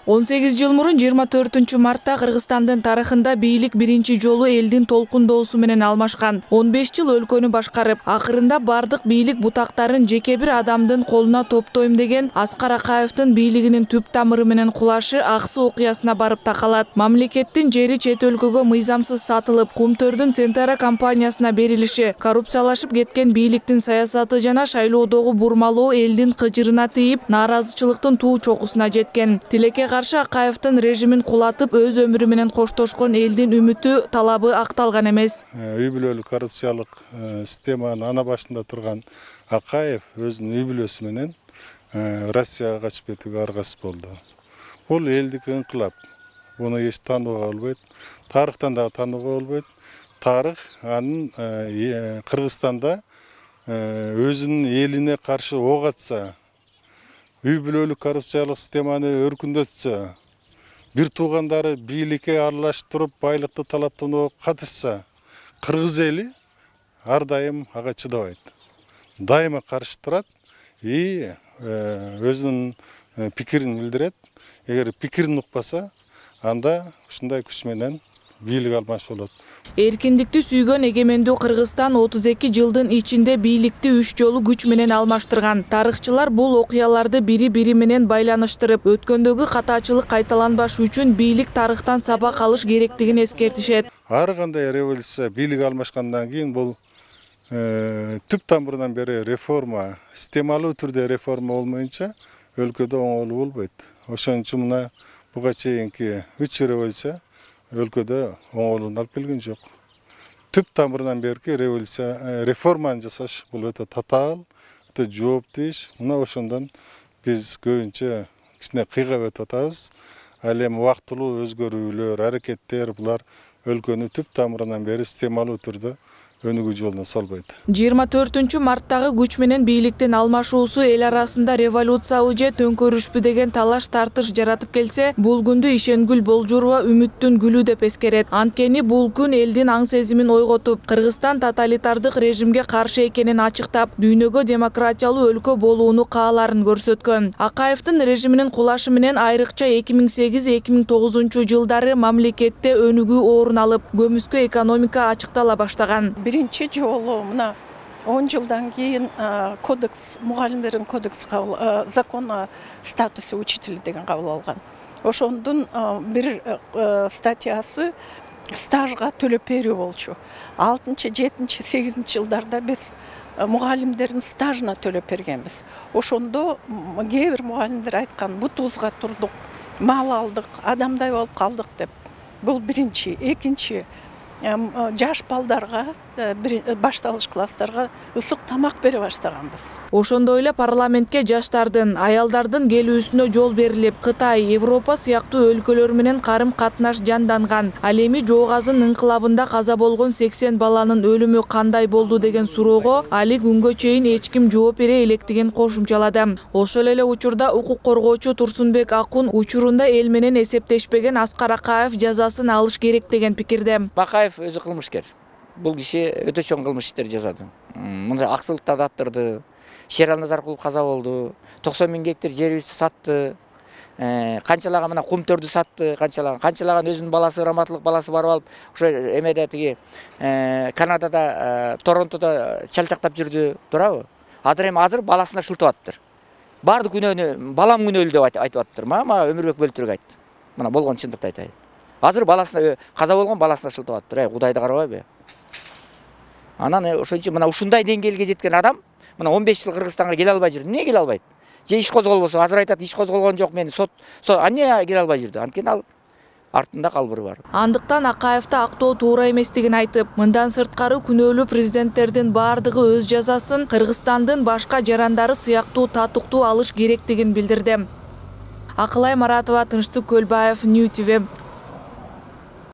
18 жыл мурун 24-мартта Кыргызстандын тарыхында бийлик биринчи жолу элдин толкундоосу менен алмашкан. 15 жыл өлкөнү башкарып, акырында бардык бийлик бутактарын жеке бир адамдын колуна топтойм деген Аскар Акаевдин бийлигинин түп тамыры менен кулашы аксы окуясына барып такалат. Мамлекеттин жери чет өлкөгө мыйзамсыз сатылып, Кумтөрдүн Центара компаниясына берилиши, коррупциялашып кеткен бийликтин саясаты жана шайлоодогу бурмалоо элдин кыжырына тийип, нааразычылыктын туу чокусуна жеткен. Тилекке каршы Акаевдин режимин кулатып, өз өмүрү менен коштошкон элдин үмүтү, талабы акталган эмес. Үй бүлөлүк коррупциялык системанын ана башында турган Акаев өзүнүн үй бүлөсү менен Россияга качып кетүүгө аргасыз болду. Бул элдик инкылап. Буну эч таанууга болбойт. Тарыхтан дагы таанууга болбойт. Тарых анын Кыргызстанда өзүнүн элине каршы ок атса, үй бүлөлүк коррупциялык системаны өркүндөтсө, бир туугандары бийликке аралаштырып байлыкты талаптанууга катышса, кыргыз эли ар дайым ага чыдабайт. Дайыма каршы турат и өзүнүн пикирин билдирет. Эгер пикирин укпаса, анда ушундай күч менен бийлик алмашып болот. Эркиндикти сүйгөн эгемендүү Кыргызстан 32 жылдын ичинде бийликти 3 жолу күч менен алмаштырган. Тарыхчылар бул окуяларды бири-бири менен байланыштырып, өткөндөгү катаачылык кайталанбаш үчүн бийлик тарыхтан сабак алыш керектигин эскертишет. Ар кандай революция бийлик алмашкандан кийин бул түп тамырынан бери реформа, системалуу түрдө реформа болмоюнча өлкөдө оңолуу болбойт. Ошон үчүн мына буга чейинки 3 революция өлкөдө оңолууну алып келген жок. Түп тамырынан берки революция, реформаны жасаш бул өтө татаал, өтө жооптуу иш. Мына ошондон биз көбүнчө кичине кыйгап өтүп атабыз. Ал эми убактылуу өзгөрүүлөр, аракеттер булар өлкөнү түп тамырынан бери системалуу түрдө өнүгүү жолуна салбайт. 24-марттагы күч менен бийликтин алмашуусу эл арасында революциябы же төңкөрүшпү деген талаш тартыш жаратып келсе, бул күндү ишенгүл Болжурова үмүттүн гүлү деп эскерет. Анткени бул күн элдин аң сезимин ойготуп, Кыргызстан тоталитардык режимге каршы экенин ачыктап, дүйнөгө демократиялуу өлкө болууну кааларын көрсөткөн. Акаевдин режиминин кулашы менен айрыкча 2008-2009 жылдары мамлекетте өнүгүү орун алып, көмүскө экономика ачыктала баштаган. Биринчи жолу мына 10 жылдан кийин кодекс, мугалимдердин кодекс закон статусы учителя деген кабыл алган. Ошондун бир статьясы стажга төлөп берүү болчу. 6-чы, 7-чи, 8-чи жылдарда биз мугалимдердин стажына төлөп бергенбиз. Ошондо кээ бир мугалимдер айткан, бутубузга турдук, мал алдык, адамдай болуп калдык деп. Бул биринчи. Экинчи, жаш балдарга, башталыш класстарга ысык тамак бере баштаганбыз. Ошондой эле парламентке жаштардын, аялдардын келүүсүнө жол берилип, Кытай, Европа сыяктуу өлкөлөр менен карым-катнаш жанданган. Ал эми Жоогазын инкылабында каза болгон 80 баланын өлүмү кандай болду деген суроого али күнгө чейин эч ким жооп бере электигин кошумчалады. Ошол эле учурда укук коргоочу Турсунбек Акун учурунда эл менен эсептешпеген Аскар Акаев жазасын алыш керек деген пикирде. Акаев өзү кылмышкер. Бул киши өтө чоң кылмыш иштер жасады. Мындай аксылыкты даттырды. Шерал Назаркулов каза болду. 90 000 гектар жерибизди сатты. Канчалаган мына Кумтөрдү сатты, канчалаган өзүнүн баласы, раматылык баласы барып алып, ошо эмеде тиги Канадада, Торонтодо чалчактап жүрдү, туурабы? Азыр баласына шылтып атыптыр. Бардык күнөөнү балам күнөөлүү деп айтып атыптыр. Мага Өмүрбек Бөлтүрк айтты. Мына болгон чындыкты айтайын. Азыр баласына, каза болгон баласына шылтып атыптыр. Кудайды карабайбы? Анан ошон үчүн мына ушундай деңгээлге жеткен адам мына 15 жыл Кыргызстанга келе албай жүрдү. Эмне келе албайт? Же иш козголбосо, азыр айтат иш козголгон жок, мени сот эмне келе албай жүрдү? Анткени ал артында калбыры бар. Андыктан Акаевди актоо туура эместигин айтып, мындан сырткары күнөөлүү президенттердин бардыгы өз жазасын Кыргызстандын башка жарандары сыяктуу татыктуу алыш керектигин билдирди. Акылай Маратова, Тынчтык Көлбаев, Нью ТВ.